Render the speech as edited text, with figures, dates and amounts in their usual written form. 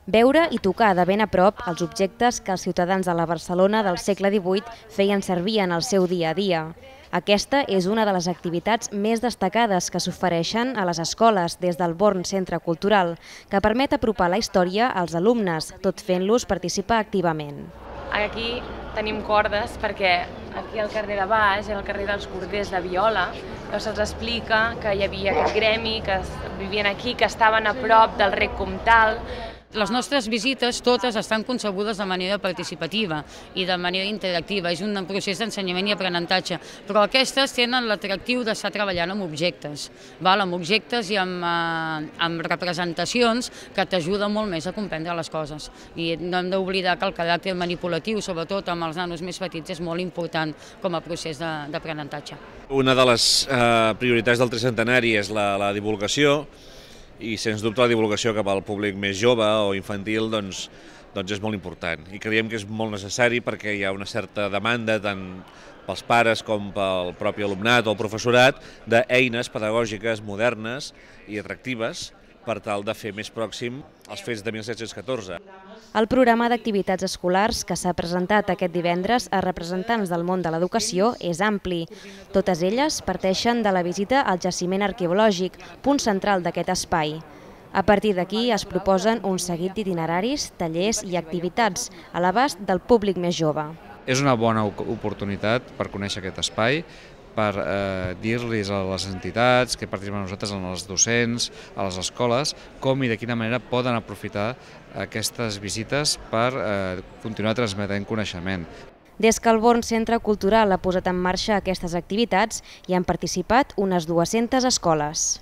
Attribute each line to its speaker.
Speaker 1: Veure i tocar de ben a prop els objectes que els ciutadans de la Barcelona del segle XVIII feien servir en el seu dia a dia. Aquesta és una de les activitats més destacades que s'ofereixen a les escoles des del Born Centre Cultural, que permet apropar la història als alumnes, tot fent-los participar activament.
Speaker 2: Aquí tenim cordes perquè aquí al carrer de baix, al carrer dels Corders de Viola, se'ls explica que hi havia aquest gremi, que vivien aquí, que estaven a prop del rec comtal.
Speaker 3: Les nostres visites totes estan concebudes de manera participativa i de manera interactiva. És un procés d'ensenyament i aprenentatge, però aquestes tenen l'atractiu d'estar treballant amb objectes, amb objectes i amb representacions que t'ajuden molt més a comprendre les coses. I no hem d'oblidar que el caràcter manipulatiu, sobretot amb els nanos més petits, és molt important com a procés d'aprenentatge.
Speaker 4: Una de les prioritats del tricentenari és la divulgació, i sens dubte la divulgació cap al públic més jove o infantil doncs és molt important i creiem que és molt necessari perquè hi ha una certa demanda tant pels pares com pel propi alumnat o el professorat d'eines pedagògiques modernes i atractives per tal de fer més pròxim els fets de 1714.
Speaker 1: El programa d'activitats escolars que s'ha presentat aquest divendres a representants del món de l'educació és ampli. Totes elles parteixen de la visita al jaciment arqueològic, punt central d'aquest espai. A partir d'aquí es proposen un seguit d'itineraris, tallers i activitats a l'abast del públic més jove.
Speaker 5: És una bona oportunitat per conèixer aquest espai, per dir-los a les entitats que participen amb nosaltres, als docents, a les escoles, com i de quina manera poden aprofitar aquestes visites per continuar transmetent coneixement.
Speaker 1: Des que el Born Centre Cultural ha posat en marxa aquestes activitats, hi han participat unes 200 escoles.